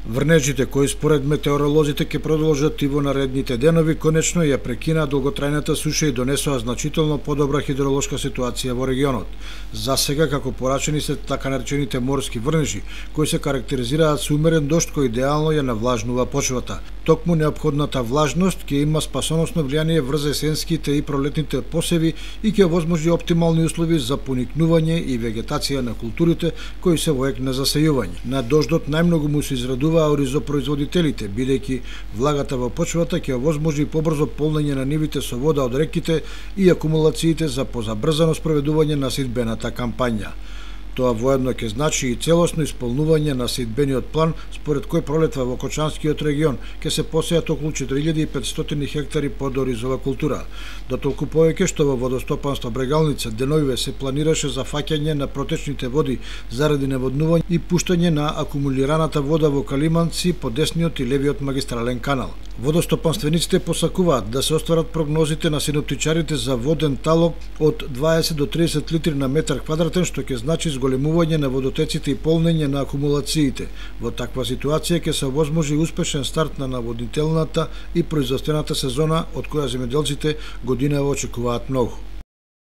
Врнежите кои според метеоролозите ќе продолжат и во наредните денови конечно ја прекинаа долготрајната суша и донесоа значително подобра хидролошка ситуација во регионот. За сега, како порачени се така наречените морски врнежи, кои се карактеризираат со умерен дожд кој идеално ја навлажнува почвата. Токму неопходната влажност ќе има спасоносно влијание врз есенските и пролетните посеви и ќе овозможи оптимални услови за поникнување и вегетација на културите кои се во ек на засејување. На дождот најмногу му се израдува оризопроизводителите, бидејќи влагата во почвата ќе овозможи побрзо полнење на нивите со вода од реките и акумулациите за позабрзано спроведување на сидбената кампања. Тоа воедно ќе значи и целосно исполнување на сидбениот план, според кој пролетва во Кочанскиот регион ќе се посејат околу 4500 хектари под оризова култура. Дотолку повеќе што во водостопанство Брегалница деновиве се планираше за фаќање на протечните води заради наводнување и пуштање на акумулираната вода во Калиманци по десниот и левиот магистрален канал. Водостопанствениците посакуваат да се остварат прогнозите на синоптичарите за воден талок од 20 до 30 литри на метар квадратен, што ќе значи зголемување на водотеците и полнење на акумулациите. Во таква ситуација ќе се овозможи успешен старт на наводнителната и производствената сезона, од која земјоделците годинава очекуваат многу.